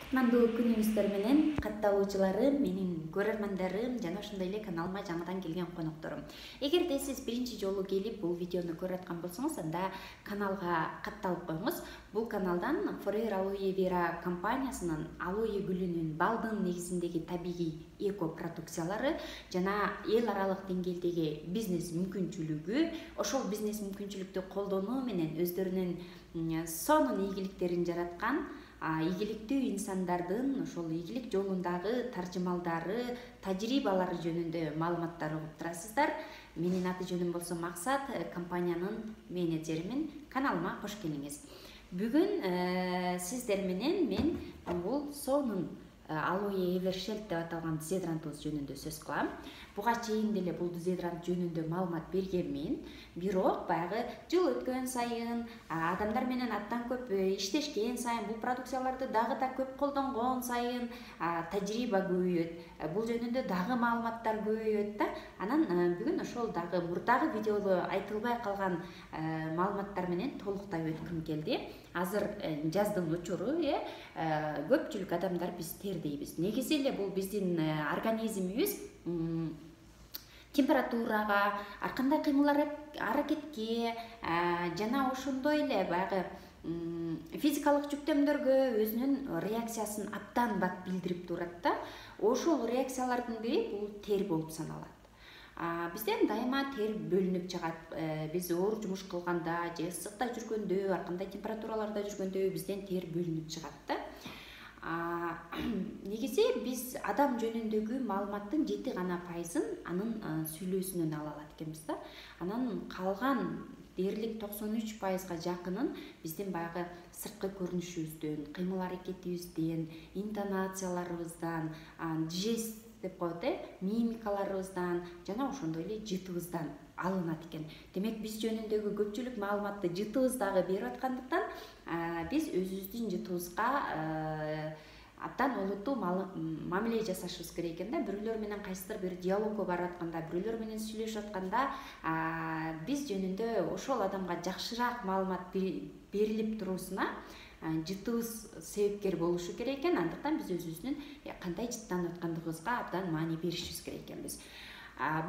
Кутмандуу күнүңүздөр менен катталуучуларым, менин көрөрмандарым жана ошондой эле каналыма жаңыдан келген конокторум. Эгерде сиз биринчи жолу келип бул видеону көрүп аткан болсоңуз, анда каналга катталып коюңуз. Бул каналдан Forever Aloe Vera компаниясынын алоэ гүлүнүн балдын негизиндеги табигый эко продукциялары жана эл аралык деңгээлдеги бизнес мүмкүнчүлүгү, ошол бизнес мүмкүнчүлүктү колдонуу менен өздөрүнүн сонун ийгиликтерин жараткан ийгиликтүү инсандардын ошол ийгилик жолундагы таржымалдары, тажрыйбалары жөнүндө маалыматтар угуп турасыздар. Менин аты жөнүм болсо Максат, компаниянын менеджеримин. Каналыма кош келиңиз. Бүгүн сиздер менен мен бул сонун алоэ эвершелт деп аталган дезодорантыбыз жөнүндө сөз кылам. Буга чейин деле бул дезодорант жөнүндө маалымат бергенмин. Бирок баягы жыл өткөн сайын, адамдар менен абдан көп иштешкен сайын, бул продукцияларды дагы да көп колдонгон сайын тажрыйба көбөйөт. Бул жөнүндө дагы маалыматтар көбөйөт да. Анан бүгүн ошол дагы мурдагы видеодо айтылбай калган маалыматтар менен толуктай өткүм келди. Азыр жаздын учуру, көпчүлүк адамдар биз тер дейбиз. Негизи эле бул биздин организмибиз температурага, ар кандай кыймыл аракетке жана ошондой эле баягы физикалык жүктөмдөргө өзүнүн реакциясын абдан бат билдирип турат да. Ошол реакциялардын бири бул тер болуп саналат. Бизден дайыма тер бөлүнүп чыгат. Биз оор жумуш кылганда же ысыкта жүргөндө, ар кандай температураларда жүргөндө бизден тер бөлүнүп чыгат да. Негизи биз адам жөнүндөгү маалыматтын 7 гана пайызын анын сүйлөөсүнөн ала алат экенбиз да. Анан калган дээрлик 93%га жакынын биздин баягы сырткы көрүнүшүбүздөн, кыймыл аракетибизден, интонацияларыбыздан, жест деп коет, мимикаларыбыздан жана ошондой эле жытыбыздан алынат экен. Демек биз жөнүндөгү көпчүлүк маалыматты жытыбыз дагы берип аткандыктан биз өзүбүздүн жытыбызга абдан олуттуу мамиле жасашыбыз керек экен да. Бирөөлөр менен кайсыдыр бир диалогго барып атканда, бирөөлөр менен сүйлөшүп атканда биз жөнүндө ошол адамга жакшыраак маалымат берилип туруусуна жытыбыз себепкер болушу керек экен. Андыктан биз өзүбүздүн кандай жыттанып аткандыгыбызга абдан маани беришибиз керек экенбиз.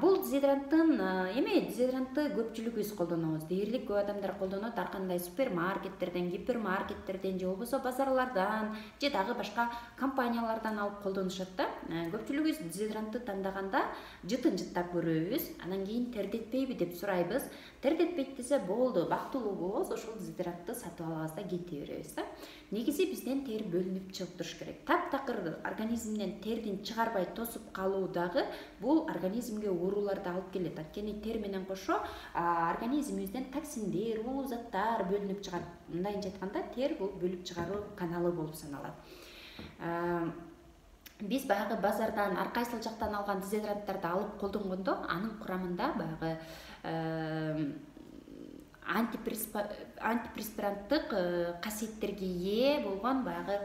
Бул дезодорантты көпчүлүгүбүз колдонобуз. Дээрлик көп адамдар колдонот, ар кандай супермаркеттерден, гипермаркеттерден же болбосо базарлардан же дагы башка компаниялардан алып колдонушат да. Көпчүлүгүбүз дезодорантты тандаганда жытын жыттап көрөбүз, анан кийин тердетпейби деп сурайбыз. Тердетпейт десе болду, бактылуубуз, ошол дезодорантты сатып алабыз да кете беребиз да. Негизи бизден тер бөлүнүп чыгып туруш керек. Таптакыр организмден тердин чыгарбай тосуп калуу дагы бул организмге ооруларды алып келет. Анткени тер менен кошо организмибизден токсиндер, уулуу заттар бөлүнүп чыгат. Мындайынча айтканда, тер бул бөлүп чыгаруу каналы болуп саналат. Биз баягы базардан ар кайсыл жактан алган дезодоранттарды алып колдонгондо, анын курамында баягы антипреспиранттык касиеттерге ээ болгон баягы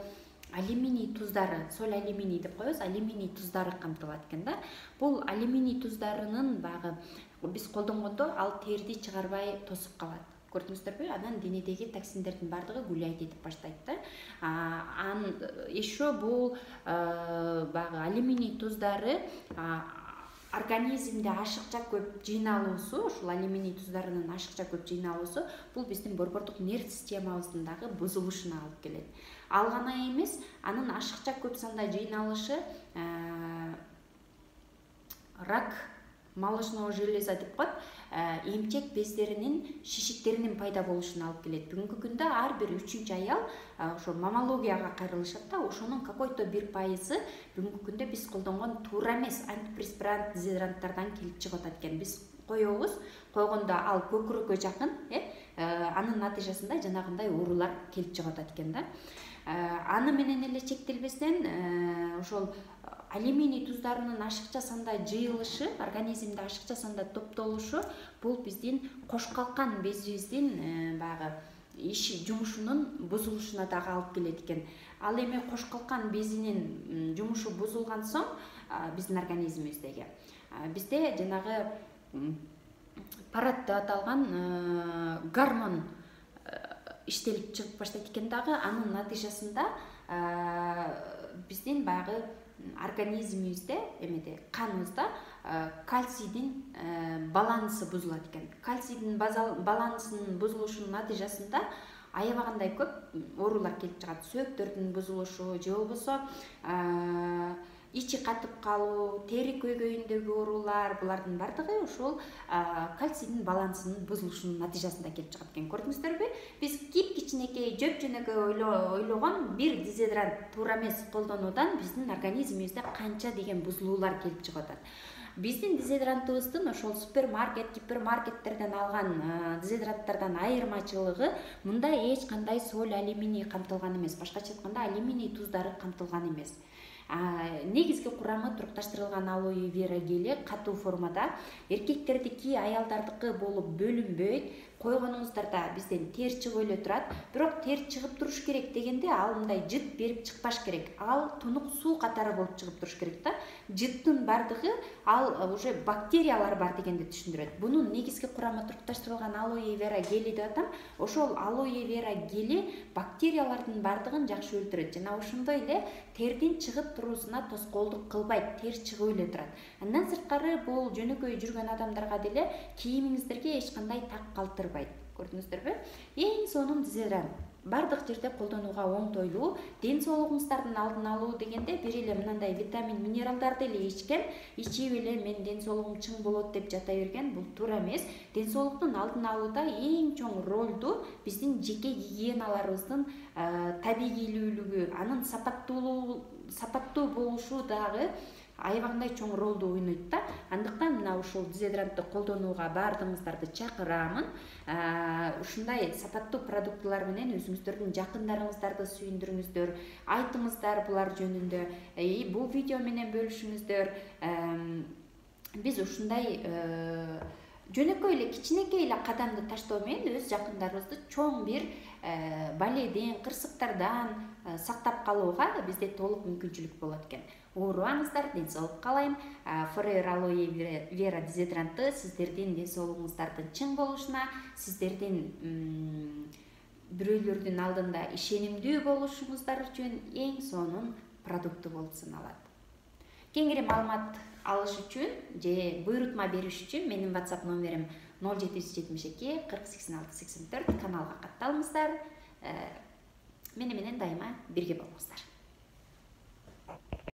алюминий туздары, соль алюминий деп коебуз, алюминий туздары камтылат экен да. Бул алюминий туздарынын баягы биз колдонгондо ал терди чыгарбай тосуп калат. Көрдүңүздөрбү? Анан денедеги токсиндердин бардыгы гуляйт этип баштайт да. Еще бул баягы алюминий туздары организмде ашыкча көп жыйналуусу, ушул алюминий туздарынын ашыкча көп жыйналуусу бул биздин борбордук нерв системабыздын дагы бузулушуна алып келет. Ал гана эмес, анын ашыкча көп санда жыйналышы рак молочного железа деп коет, эмчек бездеринин шишиктеринин пайда болушуна алып келет. Бүгүнкү күндө ар бир 3-чү аял ошо мамологияга кайрылышат да. Ошонун какой-то бир пайызы бүгүнкү күндө биз колдонгон туура эмес антипреспирант дезодоранттардан келип чыгып атат экен. Биз коебуз, койгондо ал көкүрөккө жакын, анын натыйжасында жанагындай оорулар келип чыгып атат экен да. Аны менен эле чектелбестен ошол алюминий туздарынын ашыкча санда жыйылышы, организмде ашыкча санда топтолушу бул биздин кош калкан безибиздин баягы иш жумушунун бузулушуна дагы алып келет экен. Ал эми кош калкан безинин жумушу бузулган соң биздин организмибиздеги бизде жанагы парат деп аталган гормон иштелип чыгып баштайт экен дагы. Анын натыйжасында биздин баягы организмибизде эмеде каныбызда кальцийдин балансы бузулат экен. Кальцийдин балансынын бузулушунун натыйжасында аябагандай көп оорулар келип чыгат. Сөөктөрдүн бузулушу же болбосо ичи катып калуу, тери көйгөйүндөгү оорулар, булардын бардыгы ошол кальцийдин балансынын бузулушунун натыйжасында келип чыгат экен. Көрдүңүздөрбү? Биз кичинекей жөп-жөнөкөй ойлогон бир дезодорант туура эмес колдонуудан биздин организмибизде канча деген бузулуулар келип чыгып атат. Биздин дезодорантыбыздын ошол супермаркет, гипермаркеттерден алган дезодоранттардан айырмачылыгы мында эч кандай соль, алюминий камтылган эмес. Башкача айтканда алюминий туздары камтылган эмес. Негизги курамы турукташтырылган алоэ вера гели катуу формада, эркектердики, аялдардыкы болуп бөлүнбөйт. Койгонуңуздарда бизден тер чыгып эле турат, бирок тер чыгып туруш керек дегенде ал мындай жыт берип чыкпаш керек. Ал тунук суу катары болуп чыгып туруш керек да. Жыттын бардыгы ал уже бактериялар бар дегенди түшүндүрөт. Бунун негизги курамы турукташтырылган алоэ вера гели деп атам. Ошол алоэ вера гели бактериялардын бардыгын жакшы өлтүрөт жана ошондой эле тердин чыгып туруусуна тоскоолдук кылбайт, тер чыгып эле турат. Андан сырткары бул жөнөкөй жүргөн адамдарга деле кийимиңиздерге эч кандай так калтырбайт. Көрдүңүздөрбү? Эң сонун дезодорант. Бардык жерде колдонууга оңтойлуу, ден соолугуңуздардын алдын алуу дегенде бир эле мындай витамин, минералдарды эле ичкен, ичип эле мен ден соолугум чың болот деп жата берген, бул туура эмес. Ден соолуктун алдын алууда эң чоң ролду биздин жеке гигиеналарыбыздын табигийлүүлүгү, анын сапаттуу болушу дагы аябагандай чоң ролду ойнойт да. Андыктан мына ушул дезодорантты колдонууга баардыгыңыздарды чакырамын. Ушундай сапаттуу продуктылар менен өзүңүздөрдүн жакындарыңыздарды сүйүндүрүңүздөр, айтыңыздар булар жөнүндө. Бул видео менен бөлүшүңүздөр. Биз ушундай жөнөкөй эле кичинекей эле кадамды таштоо менен өз жакындарыбызды чоң бир баледен, кырсыктардан сактап калууга бизде толук мүмкүнчүлүк болот экен. Оорубаңыздар, ден соолук каалайм. Forever Aloe Vera дезодоранты сиздердин ден соолугуңуздардын чың болушуна, сиздердин бирөөлөрдүн алдында ишенимдүү болушуңуздар үчүн эң сонун продукту болуп саналат. Кеңири маалымат алыш үчүн же буйрутма бериш үчүн менин WhatsApp номерим 0772 40 86 84, каналга катталыңыздар. Мени менен дайыма бирге болуңуздар.